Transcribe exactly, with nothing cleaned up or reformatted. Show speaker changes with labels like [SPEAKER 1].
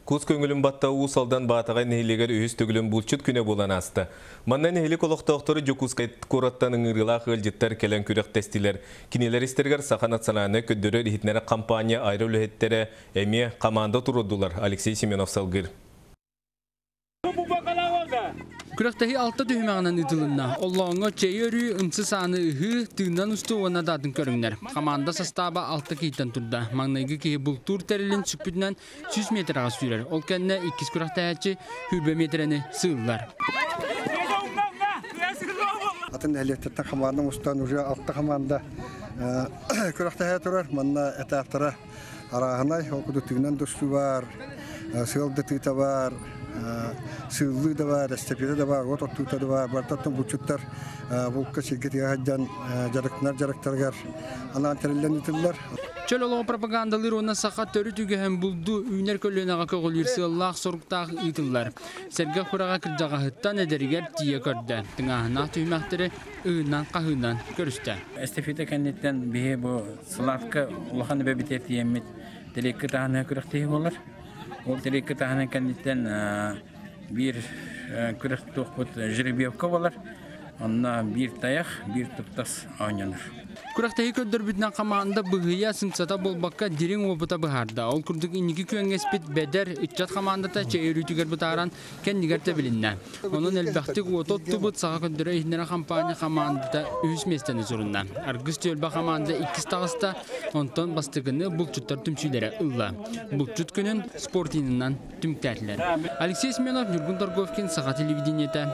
[SPEAKER 1] Кус көҥүлүн батта Уус Алдан Баатаҕай нэһилиэгэр үһүс төгүлүн булчут күнэ буолан ааста. Манна нэһилиэк олохтоохторо Дьокуускай куораттан ыҥырыылаах ыалдьыттар кэлэн күрэхтэстилэр. Кинилэр истэригэр Саха национальнай көрдөрөр-иһитиннэрэр компания айар үлэһиттэрэ эмиэ команда туруордулар. Алексей Семенов салгыыр.
[SPEAKER 2] Күрэхтэһии алта түһүмэҕинэн ыытылынна. Оллооҥҥо чэйи өрүү, ымсы сааны ыһыы, тыынан устуу уонна да атын көрүҥнэр. Хамаанда састааба алта киһиттэн турда. Маҥнайгы киһи бултуур тэрилин сүкпүтүнэн сүүс миэтэрэҕэ сүүрэр. Ол кэннэ иккис күрэхтэһээччи сүүрбэ миэтэрэни сыыллар.
[SPEAKER 3] Атын нэһилиэктэртэн хамаанда мустан уже алта хамаанда күрэхтэһэ турар. Манна этаптара арааһынай, ол курдук тыынан тустуу бар, сыал да тыыта бар, сыыллыы да бар, эстафета да бар, от оттуута да бар. Бартаттан булчуттар булка сиргэ тыга дьарыктанар дьарыктарыгар анаан тэриллэн ыытыллар.
[SPEAKER 2] Чөл олоҕу пропагандалыыр уонна саха төрүт үгэһин булду үүнэр көлүөнэҕэ көҕүлүүр сыаллаах-соруктаах ыытыллар. Сэргэх күрэҕэ кырдьаҕаһыттан эдэригэр тиийэ көрдө. Тыҥааһыннаах түһүмэхтэри ыһыынан-хаһыынан көрүстэ.
[SPEAKER 4] Эстафета кэнниттэн биһи бу Славка улахан эбэбитигэр тиийэммит тэлиэккэ таһынан күрэхтэһии буолар. Ол тэлиэккэ таһынан кэнниттэн биир күрэх туохпут жеребьевка буолар. Онно биир тайах, биир туптас оонньонор.
[SPEAKER 2] Күрэхтэһии көрдөрбүтүнэн хамаанда быһыйа сымсата буолбакка дириҥ уопута быһаарда. Ол курдук инники күөҥҥэспит Бэдэр ыччат хамаандата чэй өрүүтүгэр бытааран кэннигэр тэбилиннэ. Онон элбэхтик уоту оттубут Саха көрдөрөр иһитиннэрэр хампаанньа хамаандата үһүс миэстэни сурунна. Аргыс түөлбэ хамаанда иккис таҕыста, онтон бастакыны булчуттар түмсүүлэрэ ылла. Булчут күнүн спортинынан түмүктээтилэр. Алексей Семенов, Ньургун Торговкин, Саха телевидениетэ.